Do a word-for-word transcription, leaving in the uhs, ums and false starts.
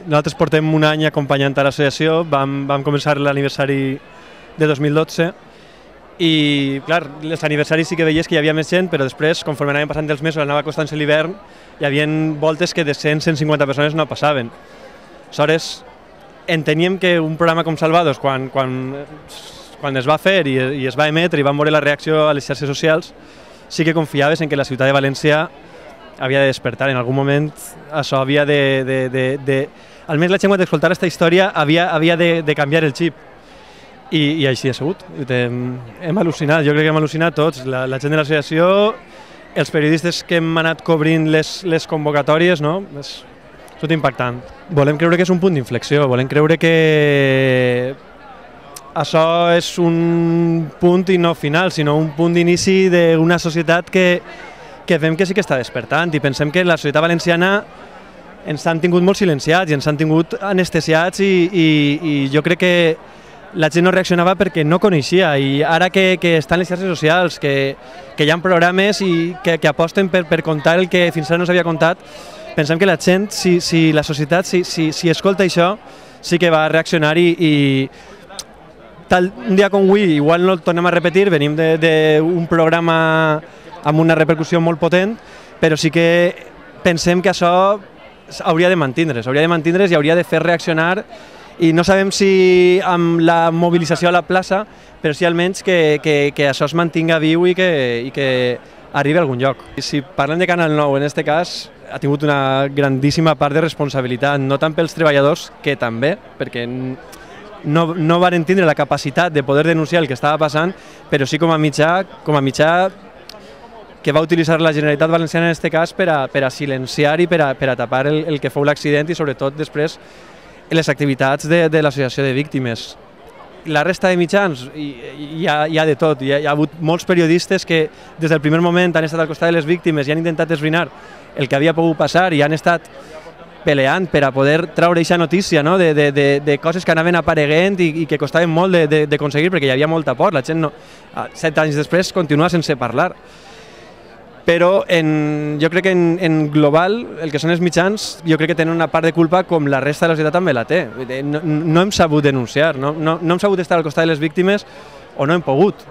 nosaltres portem un any acompanyant a l'associació, vam, vam començar l'aniversari de dos mil dotze i, clar, els aniversaris sí que veies que hi havia més gent, però després, conforme anaven passant els mesos, anava acostant-se l'hivern, hi havia voltes que de cent a cent cinquanta persones no passaven. Aleshores, enteníem que un programa com Salvados, quan, quan, quan es va fer i, i es va emetre i vam veure la reacció a les xarxes socials, sí que confiaves en que la ciutat de València havia de despertar. En algun moment això havia de... de, de, de... Almenys la gent quan d'escoltar aquesta història havia, havia de, de canviar el xip. I, i així ha sigut. Hem, hem al·lucinat, jo crec que hem al·lucinat tots. La, la gent de l'associació, els periodistes que hem anat cobrint les, les convocatòries, no? És tot impactant. Volem creure que és un punt d'inflexió, volem creure que això és un punt i no final, sinó un punt d'inici d'una societat que, que veiem que sí que està despertant i pensem que la societat valenciana ens han tingut molt silenciats i ens han tingut anestesiats i, i, i jo crec que la gent no reaccionava perquè no coneixia i ara que, que estan les xarxes socials, que, que hi ha programes i que, que aposten per, per contar el que fins ara no s'havia contat, pensem que la gent, si, si la societat, si, si, si escolta això, sí que va reaccionar i, i tal, un dia com avui, igual no el tornem a repetir, venim d'un programa amb una repercussió molt potent, però sí que pensem que això hauria de mantindre's, hauria de mantindre's i hauria de fer reaccionar i no sabem si amb la mobilització a la plaça, però sí almenys que, que, que això es mantinga viu i que, i que arribi a algun lloc. I si parlem de Canal nou, en aquest cas, ha tingut una grandíssima part de responsabilitat, no tant pels treballadors, que també, perquè no, no van tindre la capacitat de poder denunciar el que estava passant, però sí com a mitjà, com a mitjà que va utilitzar la Generalitat Valenciana en aquest cas per a, per a silenciar i per a, per a tapar el, el que fou l'accident i sobretot després les activitats de, de l'associació de víctimes. La resta de mitjans hi, hi, ha, hi ha de tot, hi ha, hi ha hagut molts periodistes que des del primer moment han estat al costat de les víctimes i han intentat esbrinar el que havia pogut passar i han estat peleant per a poder traure aquesta notícia, no? de, de, de, de coses que anaven apareguent i, i que costaven molt d'aconseguir perquè hi havia molta por, la gent no, set anys després continua sense parlar. Però en, jo crec que en, en global, el que són els mitjans, jo crec que tenen una part de culpa com la resta de la societat també la té. No, no hem sabut denunciar, no, no, no hem sabut estar al costat de les víctimes o no hem pogut.